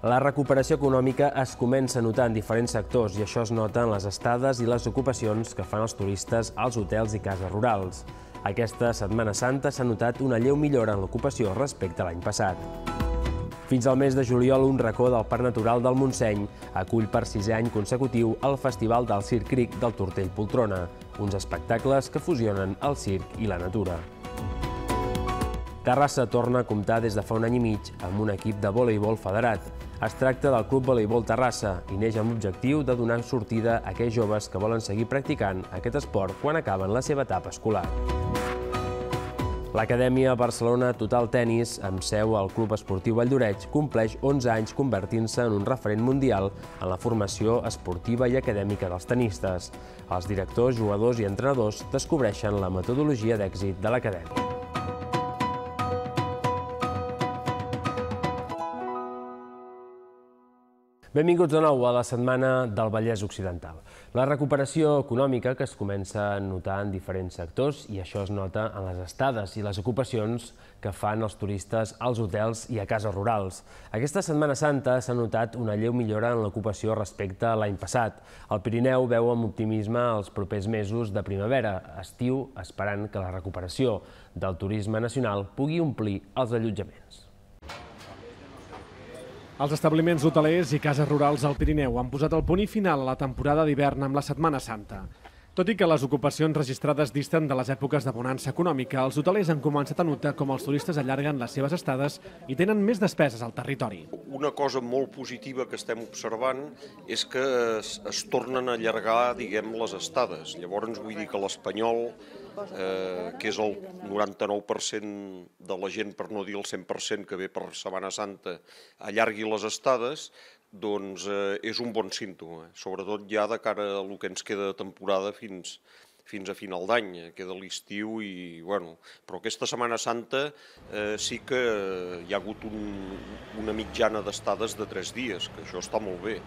La recuperació econòmica es comença a notar en diferents sectors i això es nota en les estades i les ocupacions que fan els turistes als hotels i cases rurals. Aquesta Setmana Santa s'ha notat una lleu millora en l'ocupació respecte a l'any passat. Fins al mes de juliol, un racó del Parc Natural del Montseny acull per 6è any consecutiu el Festival del Circ Cric del Tortell Poltrona, uns espectacles que fusionen el circ i la natura. Terrassa torna a comptar des de fa un any i mig amb un equip de voleibol federat. Es tracta del Club Voleibol Terrassa i neix amb l'objectiu de donar sortida a aquells joves que volen seguir practicant aquest esport quan acaben la seva etapa escolar. L'Acadèmia Barcelona Total Tenis, amb seu al Club Esportiu Valldoreix, compleix 11 anys convertint-se en un referent mundial en la formació esportiva i acadèmica dels tenistes. Els directors, jugadors i entrenadors descobreixen la metodologia d'èxit de l'Acadèmia. Benvinguts de nou a la Setmana del Vallès Occidental. La recuperació econòmica que es comença a notar en diferents sectors i això es nota en les estades i les ocupacions que fan els turistes als hotels i a cases rurals. Aquesta Setmana Santa s'ha notat una lleu millora en l'ocupació respecte a l'any passat. El Pirineu veu amb optimisme els propers mesos de primavera, estiu, esperant que la recuperació del turisme nacional pugui omplir els allotjaments. Els establiments hotelers i cases rurals al Pirineu han posat el punt i final a la temporada d'hivern amb la Setmana Santa. Tot i que les ocupacions registrades disten de les èpoques de bonança econòmica, els hotelers han començat a notar com els turistes allarguen les seves estades i tenen més despeses al territori. Una cosa molt positiva que estem observant és que es tornen a allargar, diguem, les estades. Llavors vull dir que l'espanyol, que és el 99% de la gent, per no dir el 100% que ve per Setmana Santa, allargui les estades, doncs és un bon símptoma, sobretot ja de cara a el que ens queda de temporada fins a final d'any, queda l'estiu i, bueno, però aquesta Setmana Santa sí que hi ha hagut una mitjana d'estades de 3 dies, que això està molt bé.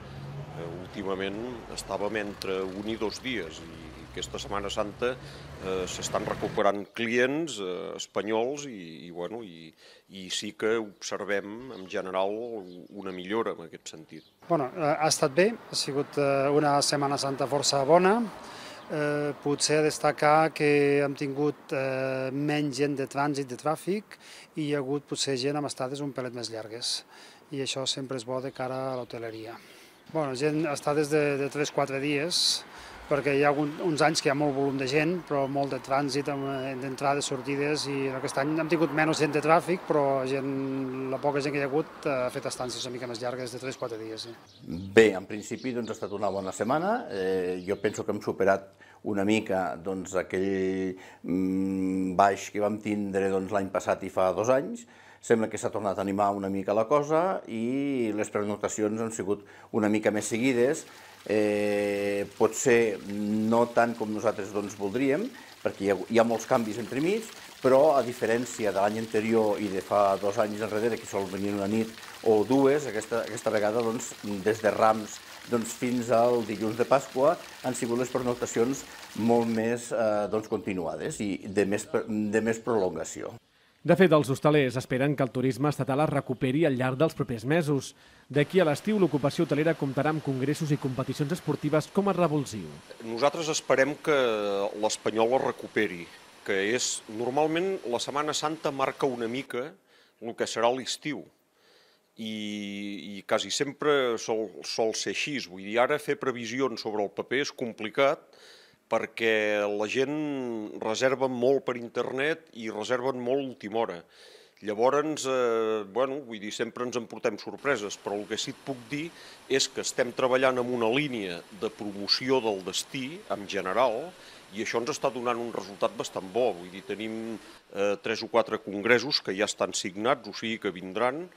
Últimament estàvem entre 1 i 2 dies i aquesta Setmana Santa s'estan recuperant clients espanyols i sí que observem en general una millora en aquest sentit. Bueno, ha estat bé, ha sigut una Setmana Santa força bona. Potser destacar que hem tingut menys gent de trànsit, de tràfic, i hi ha hagut potser gent amb estades un pelet més llargues. I això sempre és bo de cara a l'hoteleria. Bueno, gent estades de 3-4 dies, perquè hi ha uns anys que hi ha molt volum de gent, però molt de trànsit, d'entrades, sortides, i aquest any hem tingut menys gent de tràfic, però la poca gent que hi ha hagut ha fet estàncies una mica més llargues, de 3-4 dies. Bé, en principi ha estat una bona setmana. Jo penso que hem superat una mica aquell baix que vam tindre l'any passat i fa 2 anys. Sembla que s'ha tornat a animar una mica la cosa i les pernoctacions han sigut una mica més seguides. Potser no tant com nosaltres voldríem, perquè hi ha molts canvis entremig, però a diferència de l'any anterior i de fa 2 anys enrere, que sol venir una nit o 2, aquesta vegada des de Rams fins al dilluns de Pasqua han sigut les pernoctacions molt més continuades i de més prolongació. De fet, els hostalers esperen que el turisme estatal es recuperi al llarg dels propers mesos. D'aquí a l'estiu, l'ocupació hotelera comptarà amb congressos i competicions esportives com a revulsiu. Nosaltres esperem que l'Espanyol es recuperi, que és, normalment, la Setmana Santa marca una mica el que serà l'estiu. I quasi sempre sol ser així. Vull dir, ara fer previsions sobre el paper és complicat, perquè la gent reserva molt per internet i reserven molt a última hora. Llavors, vull dir, sempre ens emportem sorpreses, però el que sí et puc dir és que estem treballant en una línia de promoció del destí, en general, i això ens està donant un resultat bastant bo. Vull dir, tenim 3 o 4 congressos que ja estan signats, o sigui que vindran,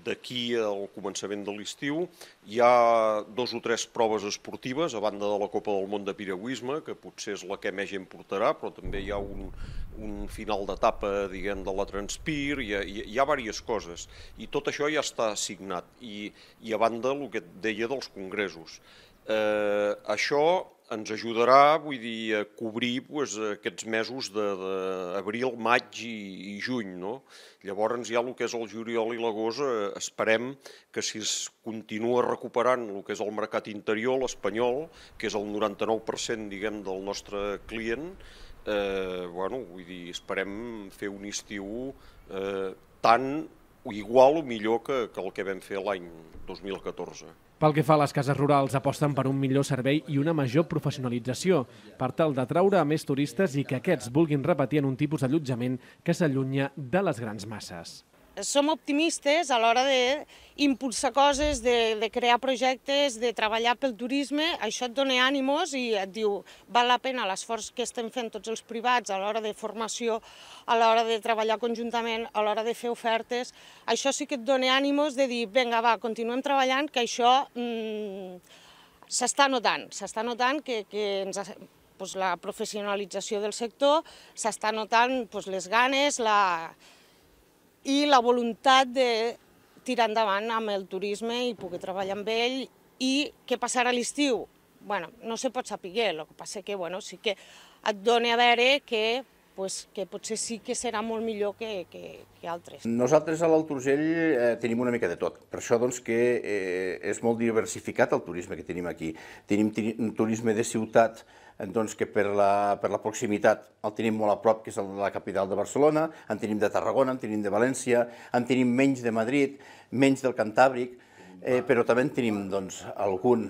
d'aquí al començament de l'estiu. Hi ha 2 o 3 proves esportives, a banda de la Copa del Món de Piragüisme, que potser és la que més gent portarà, però també hi ha un final d'etapa, diguem, de la Transpir, hi ha diverses coses. I tot això ja està signat. I a banda, el que et deia dels congressos. Això ens ajudarà, vull dir, a cobrir aquests mesos d'abril, maig i juny, no? Llavors ja el que és el juliol i l'agost esperem que si es continua recuperant el que és el mercat interior, l'espanyol, que és el 99%, diguem, del nostre client, vull dir, esperem fer un estiu tan o igual o millor que el que vam fer l'any 2014. Pel que fa a les cases rurals, aposten per un millor servei i una major professionalització per tal d'atraure a més turistes i que aquests vulguin repetir en un tipus d'allotjament que s'allunya de les grans masses. Som optimistes a l'hora d'impulsar coses, de crear projectes, de treballar pel turisme. Això et dona ànimos i et diu val la pena l'esforç que estem fent tots els privats a l'hora de formació, a l'hora de treballar conjuntament, a l'hora de fer ofertes. Això sí que et dona ànimos de dir vinga, va, continuem treballant, que això s'està notant que la professionalització del sector, s'està notant les ganes, i la voluntat de tirar endavant amb el turisme i poder treballar amb ell. I què passarà a l'estiu? Bueno, no se pot saber, el que passa que sí que et dona a veure que potser sí que serà molt millor que altres. Nosaltres a l'Alt Urgell tenim una mica de tot, per això que és molt diversificat el turisme que tenim aquí. Tenim un turisme de ciutat que per la proximitat el tenim molt a prop, que és la capital de Barcelona, en tenim de Tarragona, en tenim de València, en tenim menys de Madrid, menys del Cantàbric, però també en tenim algun.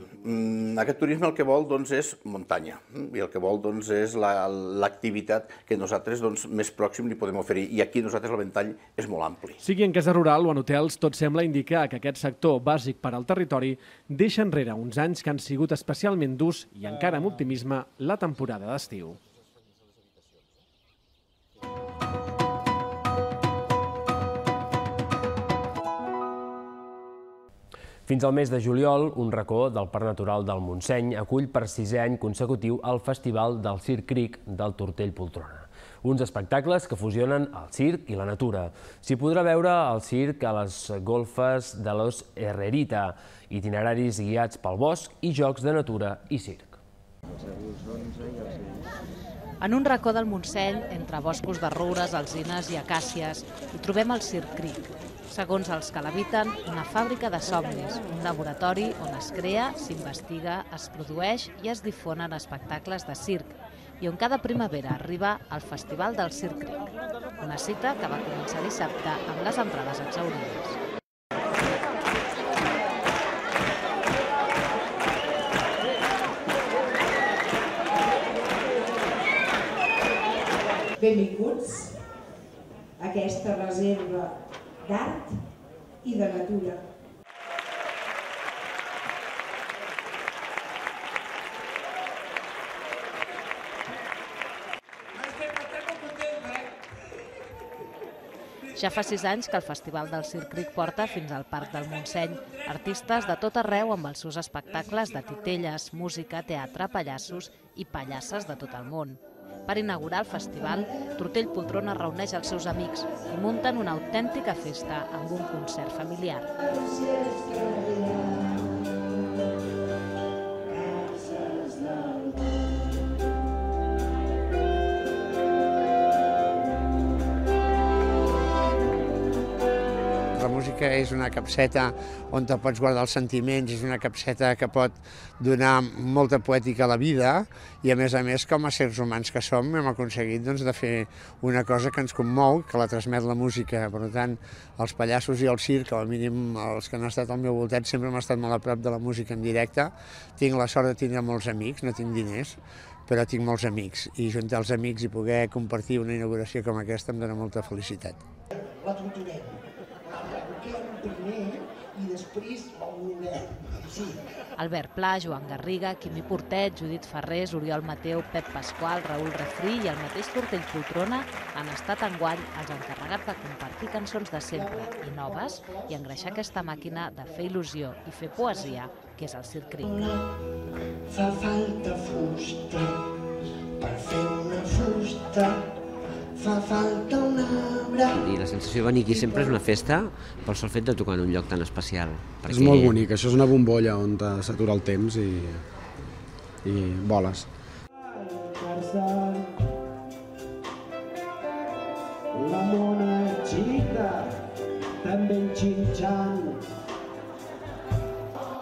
Aquest turisme el que vol és muntanya i el que vol és l'activitat que nosaltres més pròxim li podem oferir, i aquí nosaltres el ventall és molt ampli. Sigui en casa rural o en hotels, tot sembla indicar que aquest sector bàsic per al territori deixa enrere uns anys que han sigut especialment durs i encara amb optimisme la temporada d'estiu. Fins al mes de juliol, un racó del Parc Natural del Montseny acull per 6è any consecutiu el Festival del Circ Cric del Tortell Poltrona. Uns espectacles que fusionen el circ i la natura. S'hi podrà veure el circ a les golfes de los Herrerita, itineraris guiats pel bosc i jocs de natura i circ. En un racó del Montseny, entre boscos de roures, alzines i acàcies, hi trobem el Circ Cric. Segons els que l'habiten, una fàbrica de somnis, un laboratori on es crea, s'investiga, es produeix i es difonen espectacles de circ, i on cada primavera arriba el Festival del Circ Cric, una cita que va començar dissabte amb les entrades exhaurides. Benvinguts a aquesta reserva d'art i de natura. Ja fa 6 anys que el Festival del Circ Cric porta fins al Parc del Montseny artistes de tot arreu amb els seus espectacles de titelles, música, teatre, pallassos i pallasses de tot el món. Per inaugurar el festival, Tortell Poltrona reuneix els seus amics i munten una autèntica festa amb un concert familiar. La música és una capseta on te pots guardar els sentiments, és una capseta que pot donar molta poètica a la vida i a més, com a sers humans que som, hem aconseguit de fer una cosa que ens commou, que la transmet la música. Per tant, els pallassos i el circ, al mínim els que han estat al meu voltat, sempre hem estat molt a prop de la música en directe. Tinc la sort de tenir molts amics, no tinc diners, però tinc molts amics, i juntar els amics i poder compartir una inauguració com aquesta em dona molta felicitat. La torturem. Primer i després el volem. Sí. Albert Pla, Joan Garriga, Quimi Portet, Judit Ferrés, Oriol Mateu, Pep Pasqual, Raül Refrí i el mateix Tortell Poltrona han estat enguany els encarregats de compartir cançons de sempre i noves i engreixar aquesta màquina de fer il·lusió i fer poesia, que és el Circ Cric. Fa falta fusta per fer una fusta. Fa falta un arbre. I la sensació de venir aquí sempre és una festa pel sol fet de tocar en un lloc tan especial. És molt bonic, això és una bombolla on s'atura el temps i i boles. La monachita també enxinxant.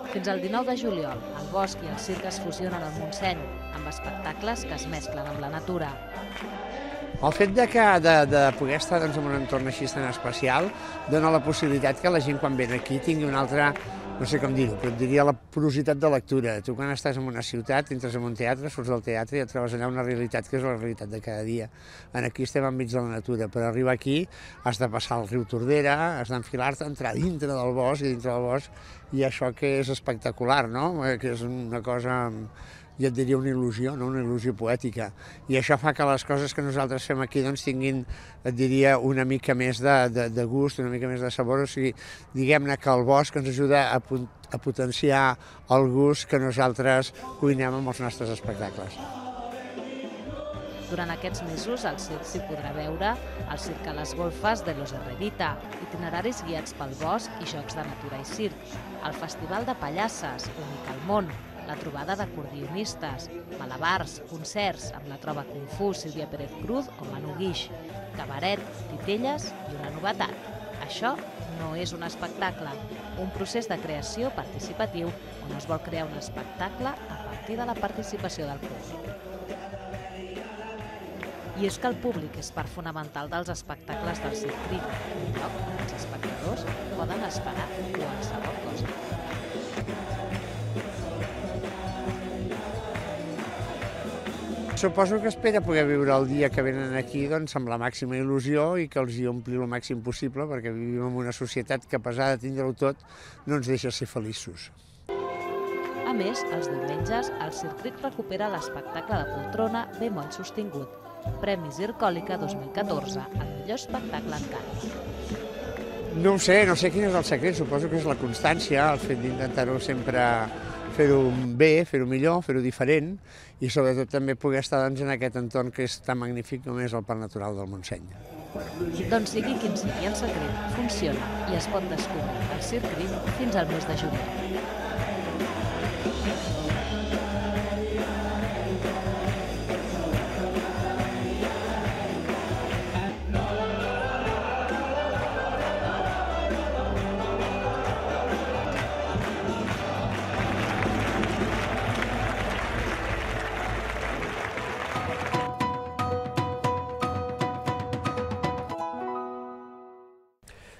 Fins al 19 de juliol, el bosc i el circ es fusionen al Montseny, amb espectacles que es mesclen amb la natura. El fet de poder estar en un entorn així tan especial dona la possibilitat que la gent quan ve aquí tingui una altra, no sé com dir-ho, però et diria la porositat de lectura. Tu quan estàs en una ciutat, entres en un teatre, surts del teatre i et trobes allà una realitat que és la realitat de cada dia. Aquí estem enmig de la natura, per arribar aquí has de passar el riu Tordera, has d'enfilar-te, entrar dintre del bosc i dintre del bosc, i això que és espectacular, no? Que és una cosa, jo et diria una il·lusió, no? Una il·lusió poètica. I això fa que les coses que nosaltres fem aquí doncs, tinguin, et diria, una mica més de gust, una mica més de sabor. O sigui, diguem-ne que el bosc ens ajuda a potenciar el gust que nosaltres cuinem amb els nostres espectacles. Durant aquests mesos, al circ s'hi podrà veure el circ a les golfes de Los Herrerita, itineraris guiats pel bosc i jocs de natura i circ, el Festival de Pallasses, únic al món, la trobada d'acordionistes, malabars, concerts amb la Trova Kung Fu Sílvia Pérez Cruz o Manu Guix, cabaret, titelles i una novetat. Això no és un espectacle, un procés de creació participatiu on es vol crear un espectacle a partir de la participació del públic. I és que el públic és part fonamental dels espectacles del Circ Cric, un lloc on els espectadors poden esperar qualsevol cosa. Suposo que espera poder viure el dia que venen aquí amb la màxima il·lusió i que els hi ompli el màxim possible, perquè vivim en una societat que, a pesar de tindre-ho tot, no ens deixa ser feliços. A més, els diumenges, el Circ Cric recupera l'espectacle de poltrona Bemoll sostingut, Premi Zircòlica 2014, el millor espectacle encara. No ho sé, no sé quin és el secret, suposo que és la constància, el fet d'intentar-ho sempre fer-ho bé, fer-ho millor, fer-ho diferent i sobretot també poder estar en aquest entorn que és tan magnífic com és el Parc Natural del Montseny. Doncs sigui quin sigui el secret, funciona i es pot descobrir al Circ Cric fins al mes de juliol.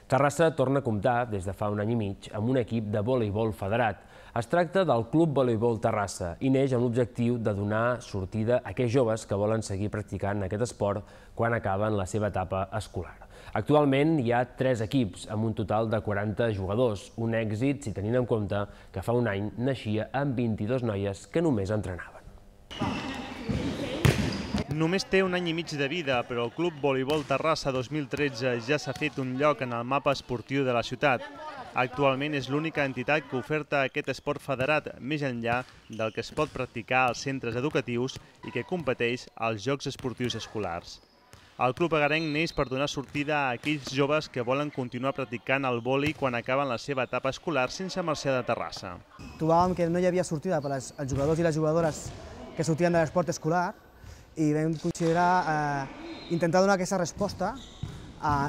Terrassa torna a comptar, des de fa un any i mig, amb un equip de voleibol federat. Es tracta del Club Voleibol Terrassa i neix amb l'objectiu de donar sortida a aquells joves que volen seguir practicant aquest esport quan acaben la seva etapa escolar. Actualment hi ha 3 equips, amb un total de 40 jugadors, un èxit si tenim en compte que fa un any naixia amb 22 noies que només entrenaven. Només té un any i mig de vida, però el Club Voleibol Terrassa 2013 ja s'ha fet un lloc en el mapa esportiu de la ciutat. Actualment és l'única entitat que oferta aquest esport federat, més enllà del que es pot practicar als centres educatius i que competeix als Jocs Esportius Escolars. El club agarenc neix per donar sortida a aquells joves que volen continuar practicant el vòlei quan acaben la seva etapa escolar sense marxar de Terrassa. Trobàvem que no hi havia sortida per als jugadors i les jugadores que sortien de l'esport escolar i vam considerar intentar donar aquesta resposta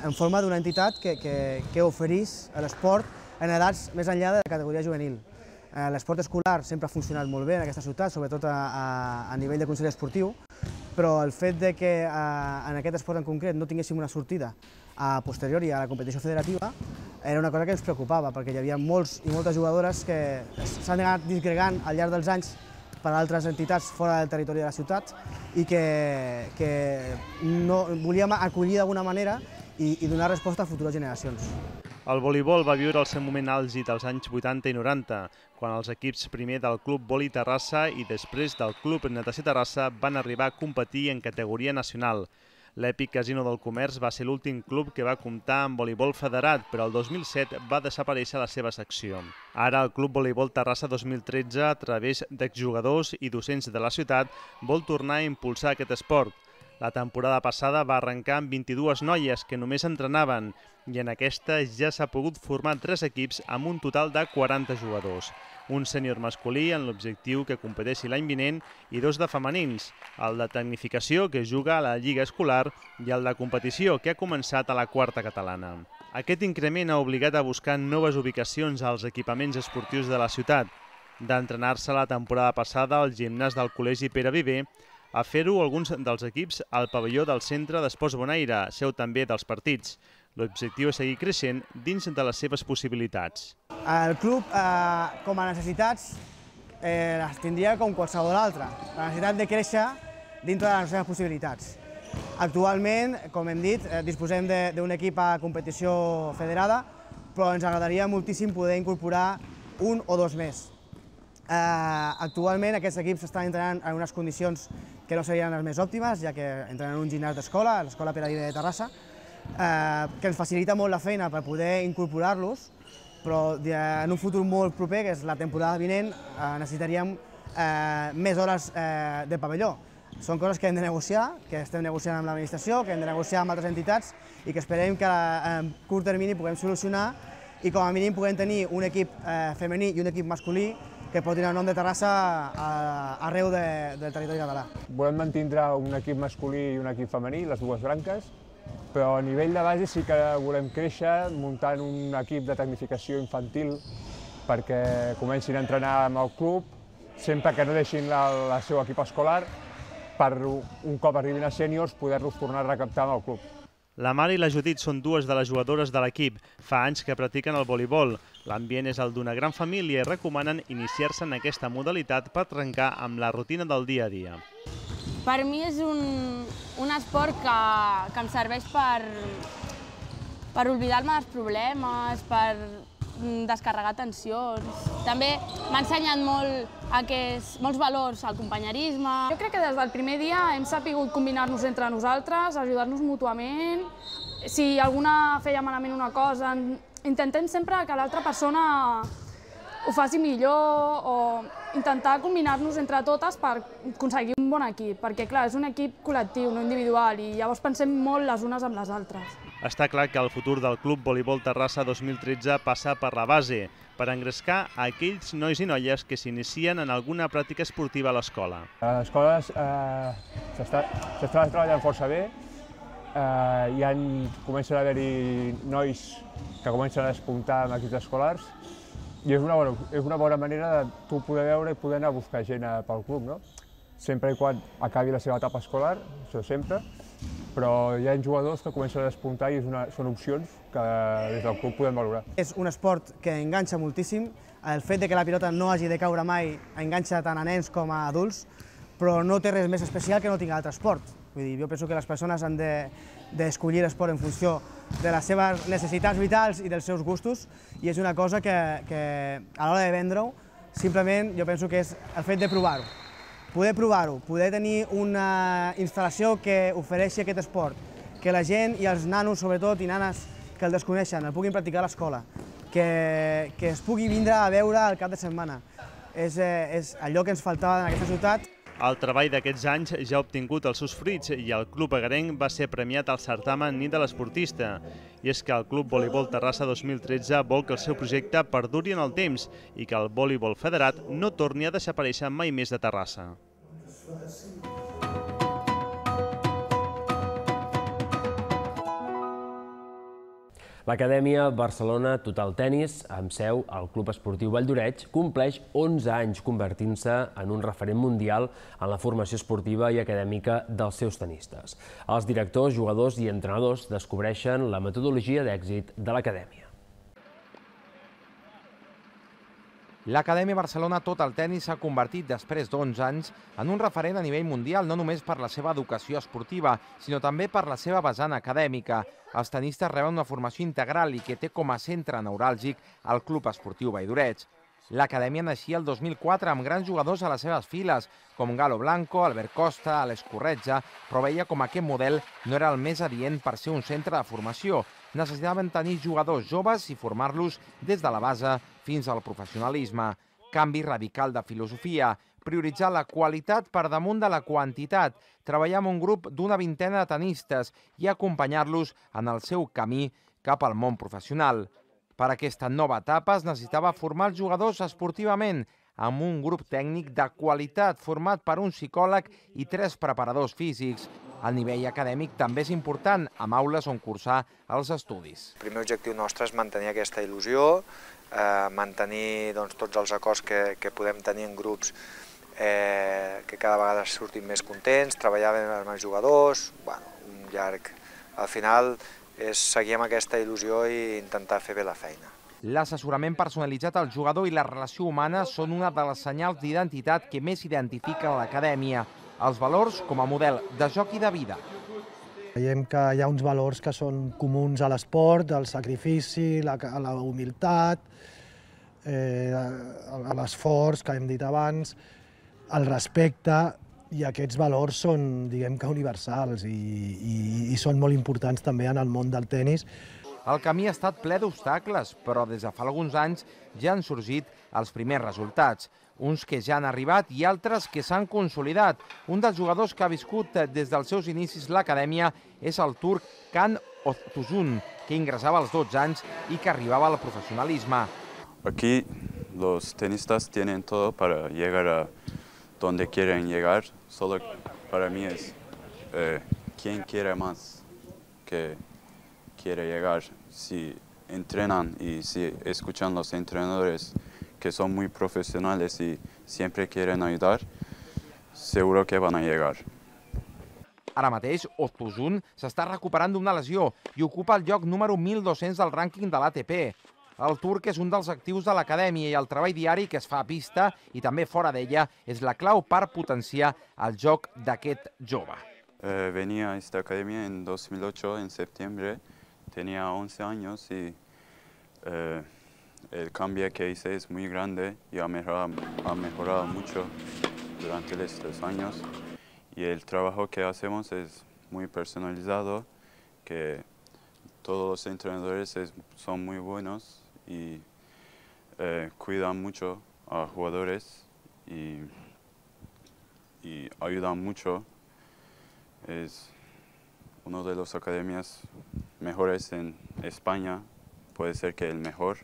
en forma d'una entitat que oferís l'esport en edats més enllà de la categoria juvenil. L'esport escolar sempre ha funcionat molt bé en aquesta ciutat, sobretot a nivell de consell esportiu, però el fet que en aquest esport en concret no tinguéssim una sortida a posteriori a la competició federativa era una cosa que ens preocupava, perquè hi havia molts i moltes jugadores que s'han anat disgregant al llarg dels anys per altres entitats fora del territori de la ciutat i que volíem acollir d'alguna manera i donar resposta a futures generacions. El voleibol va viure el seu moment àlgid als anys 80 i 90, quan els equips primer del Club Voli Terrassa i després del Club Natació Terrassa van arribar a competir en categoria nacional. L'èpic Casino del Comerç va ser l'últim club que va comptar amb voleibol federat, però el 2007 va desaparèixer la seva secció. Ara el Club Voleibol Terrassa 2013, a través d'exjugadors i docents de la ciutat, vol tornar a impulsar aquest esport. La temporada passada va arrencar amb 22 noies que només entrenaven i en aquesta ja s'ha pogut formar 3 equips amb un total de 40 jugadors. Un sènior masculí en l'objectiu que competeixi l'any vinent i 2 de femenins, el de tecnificació que juga a la Lliga Escolar i el de competició que ha començat a la 4a catalana. Aquest increment ha obligat a buscar noves ubicacions als equipaments esportius de la ciutat, d'entrenar-se la temporada passada al gimnàs del Col·legi Pere Viver, a fer-ho alguns dels equips al pavelló del Centre d'Esports Bonaire, seu també dels partits. L'objectiu és seguir creixent dins de les seves possibilitats. El club, com a necessitats, les tindria com qualsevol altra. La necessitat de créixer dintre de les seves possibilitats. Actualment, com hem dit, disposem d'un equip a competició federada, però ens agradaria moltíssim poder incorporar 1 o 2 més. Actualment aquests equips estan entrenant en unes condicions que no serien les més òptimes, ja que entrenen en un gimnàs d'escola, l'Escola Pere Viver de Terrassa, que ens facilita molt la feina per poder incorporar-los, però en un futur molt proper, que és la temporada vinent, necessitaríem més hores de pavelló. Són coses que hem de negociar, que estem negociant amb l'administració, que hem de negociar amb altres entitats i que esperem que en curt termini puguem solucionar i com a mínim puguem tenir un equip femení i un equip masculí que pot tenir el nom de Terrassa arreu del territori català. Volem mantindre un equip masculí i un equip femení, les dues branques, però a nivell de base sí que volem créixer muntant un equip de tecnificació infantil perquè comencin a entrenar amb el club, sempre que no deixin el seu equip escolar, per un cop arribin a sèniors poder-los tornar a recaptar amb el club. La Mar i la Judit són 2 de les jugadores de l'equip. Fa anys que practiquen el voleibol. L'ambient és el d'una gran família i recomanen iniciar-se en aquesta modalitat per trencar amb la rutina del dia a dia. Per mi és un esport que em serveix per oblidar-me dels problemes, per descarregar tensions. També m'ha ensenyat molts valors al companyerisme. Jo crec que des del primer dia hem sabut combinar-nos entre nosaltres, ajudar-nos mútuament. Si alguna feia malament una cosa, intentem sempre que l'altra persona ho faci millor o intentar combinar-nos entre totes per aconseguir un bon equip, perquè clar, és un equip col·lectiu, no individual, i llavors pensem molt les unes amb les altres. Està clar que el futur del Club Voleibol Terrassa 2013 passa per la base, per engrescar a aquells nois i noies que s'inicien en alguna pràctica esportiva a l'escola. A l'escola s'està treballant força bé, comencen a haver-hi nois que comencen a despuntar en equips escolars i és una bona manera de tu poder veure i poder anar a buscar gent pel club, no? Sempre i quan acabi la seva etapa escolar, això sempre, però hi ha jugadors que comencen a despuntar i són opcions que des del club podem valorar. És un esport que enganxa moltíssim. El fet de que la pilota no hagi de caure mai enganxa tant a nens com a adults, però no té res més especial que no tinga altre esport. Vull dir, jo penso que les persones han d'escollir l'esport en funció de les seves necessitats vitals i dels seus gustos, i és una cosa que a l'hora de vendre-ho, simplement jo penso que és el fet de provar-ho. Poder tenir una instal·lació que ofereixi aquest esport, que la gent i els nanos, sobretot, i nanes que el desconeixen, el puguin practicar a l'escola, que es pugui vindre a veure al cap de setmana. És allò que ens faltava en aquesta ciutat. El treball d'aquests anys ja ha obtingut els seus fruits i el Club Agarenc va ser premiat al certamen Nit de l'Esportista. I és que el Club Voleibol Terrassa 2013 vol que el seu projecte perduri en el temps i que el voleibol federat no torni a desaparèixer mai més de Terrassa. L'Acadèmia Barcelona Total Tenis, amb seu al Club Esportiu Vall d'Oreig, compleix 11 anys convertint-se en un referent mundial en la formació esportiva i acadèmica dels seus tenistes. Els directors, jugadors i entrenadors descobreixen la metodologia d'èxit de l'Acadèmia. L'Acadèmia Barcelona Total Tenis s'ha convertit després d'11 anys en un referent a nivell mundial no només per la seva educació esportiva, sinó també per la seva vessant acadèmica. Els tenistes reben una formació integral i que té com a centre neuràlgic el Club Esportiu Vall d'Oreig. L'acadèmia naixia el 2004 amb grans jugadors a les seves files, com Galo Blanco, Albert Costa, Alex Corretja, però veia com aquest model no era el més adient per ser un centre de formació. Necessitaven tenir jugadors joves i formar-los des de la base fins al professionalisme. Canvi radical de filosofia. prioritzar la qualitat per damunt de la quantitat, treballar amb un grup d'una vintena de tenistes i acompanyar-los en el seu camí cap al món professional. Per aquesta nova etapa es necessitava formar els jugadors esportivament amb un grup tècnic de qualitat format per un psicòleg i 3 preparadors físics. El nivell acadèmic també és important, amb aules on cursar els estudis. El primer objectiu nostre és mantenir aquesta il·lusió, mantenir tots els acords que podem tenir en grups que cada vegada surtin més contents, treballar bé amb els jugadors, un llarg... Al final és seguir amb aquesta il·lusió i intentar fer bé la feina. L'assessorament personalitzat al jugador i la relació humana són una de les senyals d'identitat que més identifiquen l'acadèmia. Els valors com a model de joc i de vida. Veiem que hi ha uns valors que són comuns a l'esport, el sacrifici, la humilitat, l'esforç, que hem dit abans, el respecte, i aquests valors són, diguem que, universals i són molt importants també en el món del tenis. El camí ha estat ple d'obstacles, però des de fa alguns anys ja han sorgit els primers resultats. Uns que ja han arribat i altres que s'han consolidat. Un dels jugadors que ha viscut des dels seus inicis l'acadèmia és el turc Can Oztuzun, que ingressava als 12 anys i que arribava al professionalisme. Aquí los tenistas tienen todo para llegar a donde quieren llegar. Solo para mí es quién quiere más que quiere llegar. Si entrenan y si escuchan los entrenadores que son muy profesionales y siempre quieren ayudar, seguro que van a llegar. Ara mateix, Oztuzun s'està recuperant d'una lesió i ocupa el lloc número 1.200 del rànquing de l'ATP. El turc és un dels actius de l'acadèmia i el treball diari que es fa a pista i també fora d'ella és la clau per potenciar el joc d'aquest jove. Venía a esta academia en 2008, en septiembre. Tenía 11 años y el cambio que hice es muy grande y ha mejorado mucho durante estos años. Y el trabajo que hacemos es muy personalizado, que todos los entrenadores son muy buenos y cuidan mucho a jugadores y ayudan mucho. Es una de las academias mejores en España, puede ser que el mejor.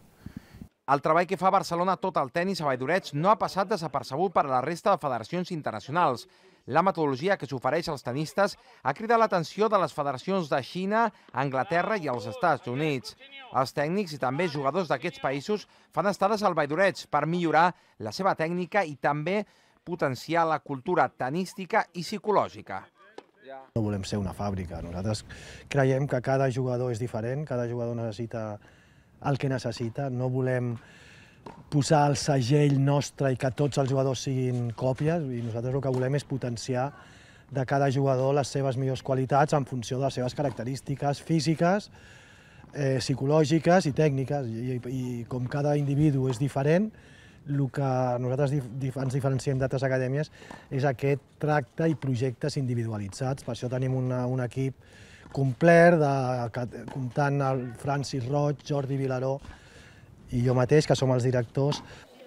El treball que fa Barcelona tot el tenis a Valldoreig no ha passat desapercebut per a la resta de federacions internacionals. La metodologia que s'ofereix als tenistes ha cridat l'atenció de les federacions de Xina, Anglaterra i els Estats Units. Els tècnics i també jugadors d'aquests països fan estades al Valldoreig per millorar la seva tècnica i també potenciar la cultura tenística i psicològica. No volem ser una fàbrica. Nosaltres creiem que cada jugador és diferent, cada jugador necessita el que necessita. No volem posar el segell nostre i que tots els jugadors siguin còpies, i nosaltres el que volem és potenciar de cada jugador les seves millors qualitats en funció de les seves característiques físiques, psicològiques i tècniques. I com cada individu és diferent, el que nosaltres ens diferenciem d'altres acadèmies és aquest tracte i projectes individualitzats. Per això tenim un equip complet, comptant el Francis Roig, Jordi Vilaró i jo mateix, que som els directors.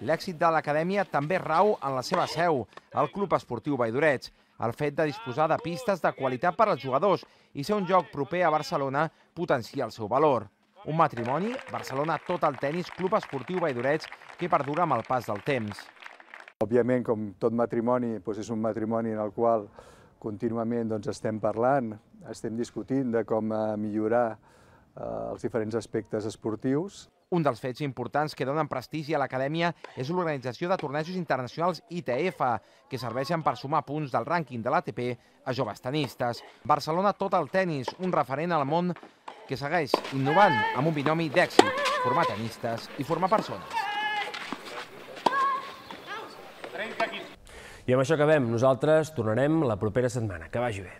L'èxit de l'acadèmia també rau en la seva seu, el Club Esportiu Valldoreig. El fet de disposar de pistes de qualitat per als jugadors i ser un lloc proper a Barcelona potencia el seu valor. Un matrimoni, Barcelona Total Tennis Club Esportiu Valldoreig, que perdura amb el pas del temps. Òbviament, com tot matrimoni, és un matrimoni en el qual contínuament estem parlant, estem discutint de com millorar els diferents aspectes esportius. Un dels fets importants que donen prestigi a l'acadèmia és l'organització de tornejos internacionals ITF, que serveixen per sumar punts del rànquing de l'ATP a joves tenistes. Barcelona Total Tennis, un referent al món que segueix innovant amb un binomi d'èxit, formar tenistes i formar persones. I amb això acabem. Nosaltres tornarem la propera setmana. Que vagi bé.